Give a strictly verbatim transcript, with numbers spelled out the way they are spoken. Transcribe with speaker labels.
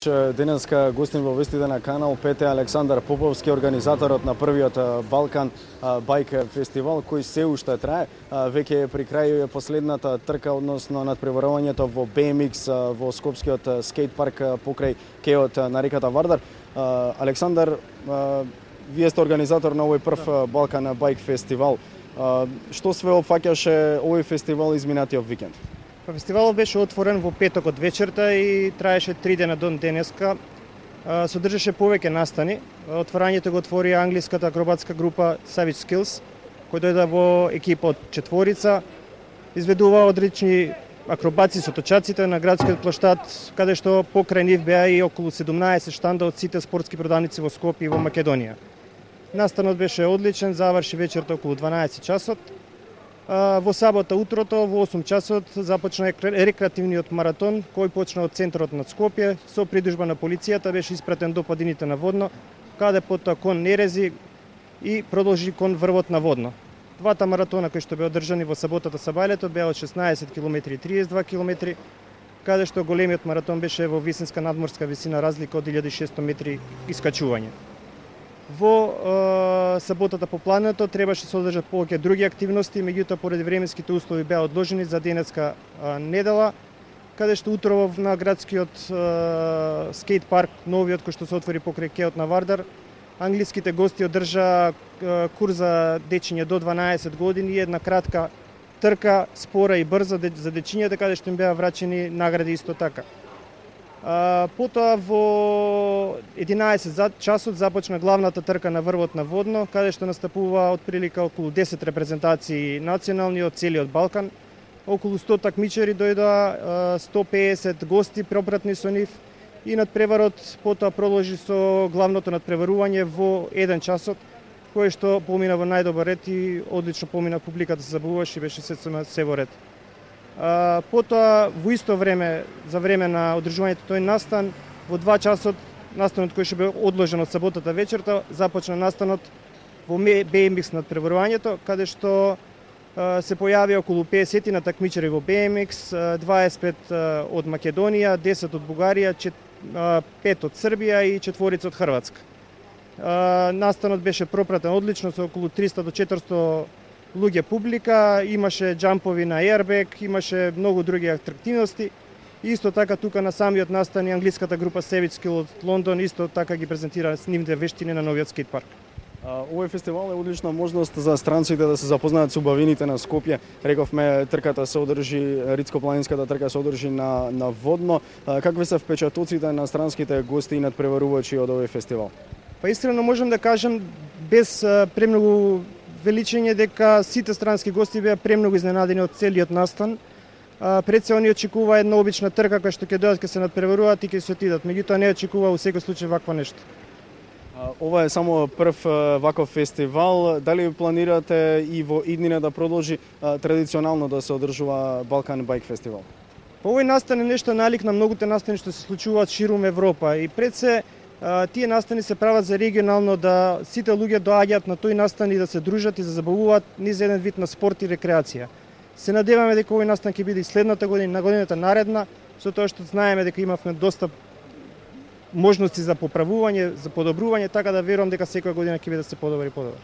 Speaker 1: че денеска гостин во вестите на Канал пет е Александар Поповски, организаторот на првиот Балкан Байк фестивал, кој се уште трае. Веќе е при крај последната трка, односно надпреварувањето во би ем икс во Скопскиот скейт парк покрај кеот на реката Вардар. Александар, вие сте организатор на овој прв Балкан Байк фестивал. Што све опфаќаше овој фестивал изминатиот викенд?
Speaker 2: Фестивалот беше отворен во петокот вечерта и траеше три дена до денеска. Содржаше повеќе настани. Отворањето го отвори англиската акробатска група Savage Skills, кој дојде во екипа од четворица. Изведува одлични акробаци со точаците на градскиот плоштад, каде што покрај нив беа и околу седумнаесет штанда од сите спортски продавници во Скопје и во Македонија. Настанот беше одличен, заврши вечерта околу дванаесет часот. Во сабота утрото во осум часот започна рекреативниот маратон, кој почна од центарот на Скопје, со придужба на полицијата беше испратен до падините на Водно, каде потоа кон Нерези и продолжи кон врвот на Водно. Двата маратона кои што беа одржани во саботата сабајлето беа од шеснаесет километри и триесет и два километри, каде што големиот маратон беше во висинска надморска висина, разлика од илјада и шестоста метри искачување. Во е, саботата по плането требаше да се одржат повеќе други активности, меѓутоа поради временските услови беа одложени за денеска е, недела, каде што утрово на градскиот е, скейт парк, новиот кој што се отвори покрај кеот на Вардар, англиските гости одржа е, курс за дечиња до дванаесет години и една кратка трка, спора и брза за дечињата, каде што им беа врачени награди исто така. А, потоа во единаесет часот започна главната трка на врвот на Водно, каде што настапува отприлика околу десет репрезентации национални од целиот Балкан. Околу сто такмичари дојдоа, сто пеесет гости пропратни со нив и надпреварот потоа продолжи со главното надпреварување во еден часот, кое што помина во најдобар ред и одлично помина, публиката се забавуваше и беше се, се во ред. Uh, потоа во исто време, за време на одржувањето тој настан, во два часот настанот кој што бе одложен од саботата вечерта, започна настанот во би ем икс надпреварувањето, каде што uh, се појави околу пеесет на такмичари во би ем икс, дваесет и пет uh, од Македонија, десет од Бугарија, пет од Србија и четворица од Хрватска. Uh, настанот беше пропратен одлично со околу триста до четиристо луѓе публика, имаше џампови на аербек, имаше многу други атрактивности. Исто така тука на самиот настан и англиската група Savage Skills од Лондон исто така ги презентира нивните вештини на новиот скейт парк.
Speaker 1: Овој фестивал е одлична можност за странците да се запознаат со убавините на Скопје. Рековме, трката се одржи, Рицко-планинската трка се одржи на, на Водно. Какви се впечатоците на странските гости и надпреварувачи од овој фестивал?
Speaker 2: Па искрено можам да кажам без премногу величење дека сите странски гости беа премногу изненадени од целиот настан. А, пред се они очекува една обична трка која што ќе дојдат, ќе се надпреваруваат и ќе се отидат. Меѓутоа не очекува во секој случај вакво нешто.
Speaker 1: А, ова е само прв ваков фестивал. Дали планирате и во иднина да продолжи а, традиционално да се одржува Балкан Байк фестивал?
Speaker 2: По овој настан е нешто налик на многуте настани што се случуваат ширум Европа и пред се тие настани се прават за регионално да сите луѓе доаѓаат на тој настан и да се дружат и да забавуваат низ еден вид на спорт и рекреација. Се надеваме дека овој настан ќе биде и следната година, на годината наредна, со тоа што знаеме дека имавме доста можности за поправување, за подобрување, така да верувам дека секоја година ќе биде да се подобри и подобри.